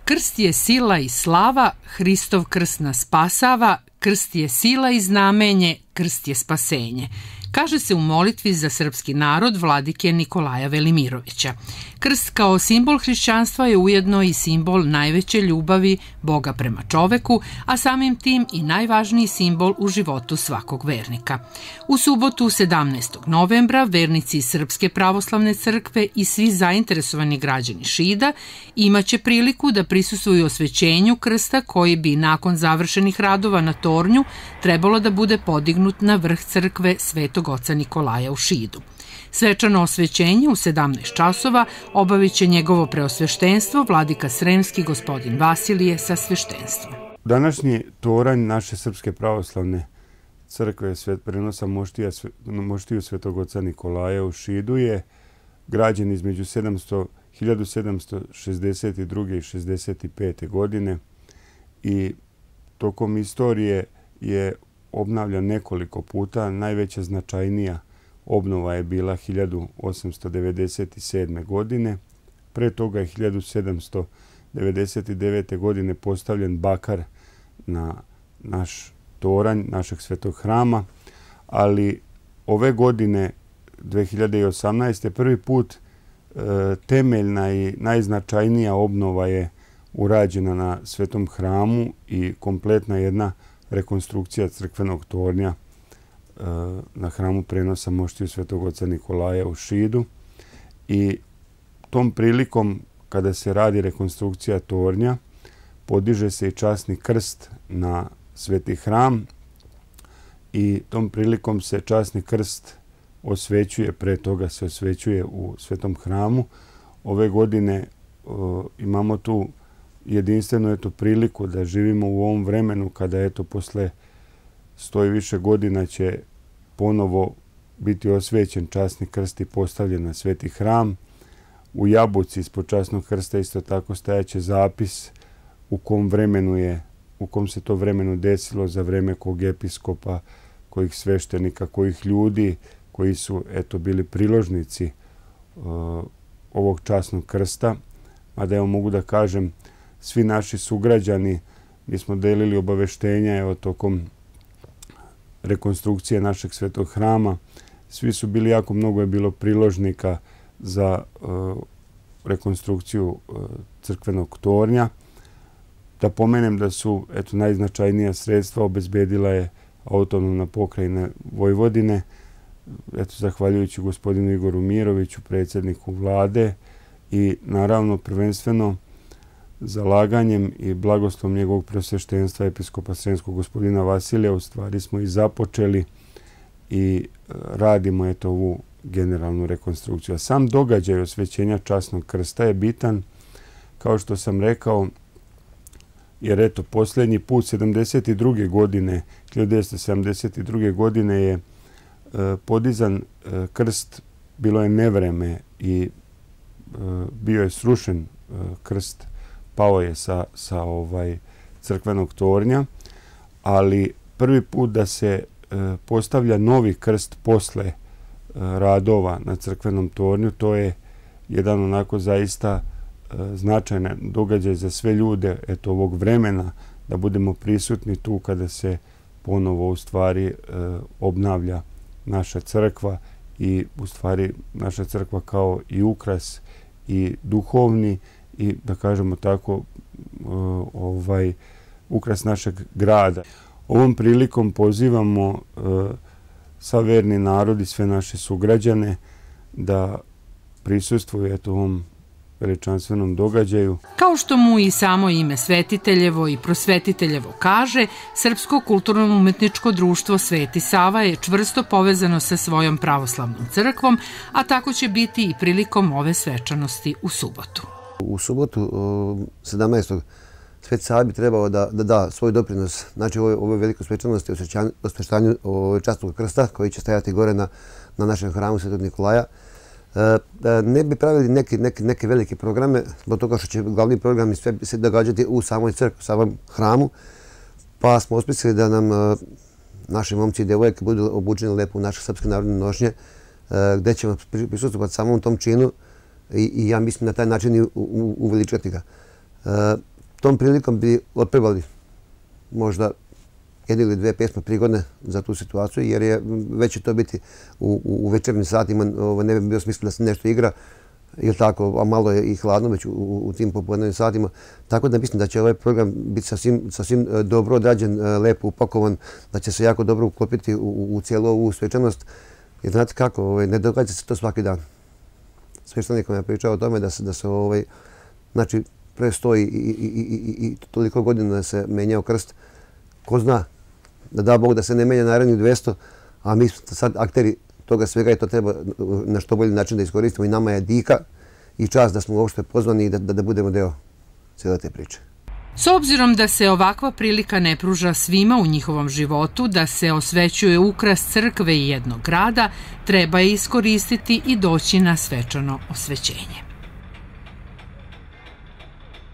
Krst je sila i slava, Hristov krst nas spasava, krst je sila i znamenje, krst je spasenje. Kaže se u molitvi za srpski narod vladike Nikolaja Velimirovića. Krst kao simbol hrišćanstva je ujedno i simbol najveće ljubavi Boga prema čoveku, a samim tim i najvažniji simbol u životu svakog vernika. U subotu 17. novembra vernici Srpske pravoslavne crkve i svi zainteresovani građani Šida imaće priliku da prisustvuju osvećenju krsta koji bi nakon završenih radova na tornju trebalo da bude podignut na vrh crkve Svetog oca Nikolaja u Šidu. Svečano osvećenje u 17 časova obavit će njegovo preosveštenstvo vladika Sremski gospodin Vasilije sa sveštenstvom. Današnji toranj naše Srpske pravoslavne crkve prenosa moštiju Svetog oca Nikolaja u Šidu je građen između 1762. i 65. godine i tokom istorije je obnavljan nekoliko puta. Najveća značajnija obnova je bila 1897. godine. Pre toga je 1799. godine postavljen bakar na naš toranj, našeg svetog hrama, ali ove godine, 2018. prvi put temeljna i najznačajnija obnova je urađena na svetom hramu i kompletna jedna rekonstrukcija crkvenog tornja na hramu prenosa moštiju Svetog oca Nikolaja u Šidu. I tom prilikom, kada se radi rekonstrukcija tornja, podiže se i časni krst na sveti hram i tom prilikom se časni krst osvećuje, pre toga se osvećuje u svetom hramu. Ove godine imamo tu jedinstvenu priliku da živimo u ovom vremenu kada posle 100 i više godina će ponovo biti osvećen časni krst i postavljen na sveti hram. U jabuci ispod časnog krsta isto tako stajaće zapis u kom se to vremenu desilo za vreme kog episkopa, kojih sveštenika, kojih ljudi koji su bili priložnici ovog časnog krsta. Mada mogu da kažem, svi naši sugrađani, mi smo delili obaveštenja tokom rekonstrukcije našeg svetog hrama. Svi su bili, jako mnogo je bilo priložnika za rekonstrukciju crkvenog tornja. Da pomenem da su najznačajnija sredstva obezbedila je autonomna pokrajina Vojvodine, zahvaljujući gospodinu Igoru Miroviću, predsjedniku vlade, i naravno prvenstveno zalaganjem i blagoslovom njegovog preosveštenstva episkopa Sremskog gospodina Vasilija u stvari smo i započeli i radimo ovu generalnu rekonstrukciju. A sam događaj osvećenja časnog krsta je bitan, kao što sam rekao, jer posljednji put 1972. godine je podizan krst, bilo je nevreme i bio je srušen krst, pao je sa crkvenog tornja, ali prvi put da se postavlja novi krst posle radova na crkvenom tornju, to je jedan onako zaista značajan događaj za sve ljude ovog vremena, da budemo prisutni tu kada se ponovo u stvari obnavlja naša crkva i u stvari naša crkva kao i ukras i duhovni i, da kažemo tako, ukras našeg grada. Ovom prilikom pozivamo sav verni narod i sve naše sugrađane da prisustvuju ovom veličanstvenom događaju. Kao što mu i samo ime Svetiteljevo i Prosvetiteljevo kaže, Srpsko kulturno-umetničko društvo Sveti Sava je čvrsto povezano sa svojom pravoslavnom crkvom, a tako će biti i prilikom ove svečanosti u subotu. U subotu 17. Sveti Sava bi trebao da da svoj doprinos, znači ovoj velikoj svečanosti, osveštanju časnog krsta koji će stajati gore na našem hramu Svetog Nikolaja. Ne bi pravili neke velike programe, zbog toga što će glavni programi sve se događati u samoj crkvi, u samom hramu, pa smo osmislili da nam naši momci i devojke budu obučeni lepo u naše srpske narodne nošnje, gde ćemo prisustvovati samom tom činu i ja mislim na taj način i uveličati ga. tom prilikom bi otpevali možda jednu ili dve pjesme prigodne za tu situaciju, jer je već će to biti u večernjim satima, ne bi bio smisla da se nešto igra, ili tako, a malo je i hladno već u tim popodnevnim satima. Tako da mislim da će ovaj program biti sasvim dobro odrađen, lepo upakovan, da će se jako dobro uklopiti u cijelu ovu svečanost. Jer znate kako, ne događa se to svaki dan. Sveštenik vam je pričao o tome da se znači, pre 100 i toliko godina da se menjao krst. Ko zna, da da Bog da se ne menja narednih 200, a mi smo sad akteri toga svega i to treba na što bolji način da iskoristimo i nama je dika i čast da smo uopšte pozvani i da budemo deo cijele te priče. S obzirom da se ovakva prilika ne pruža svima u njihovom životu, da se osvećuje ukras crkve i jednog grada, treba je iskoristiti i doći na svečano osvećenje.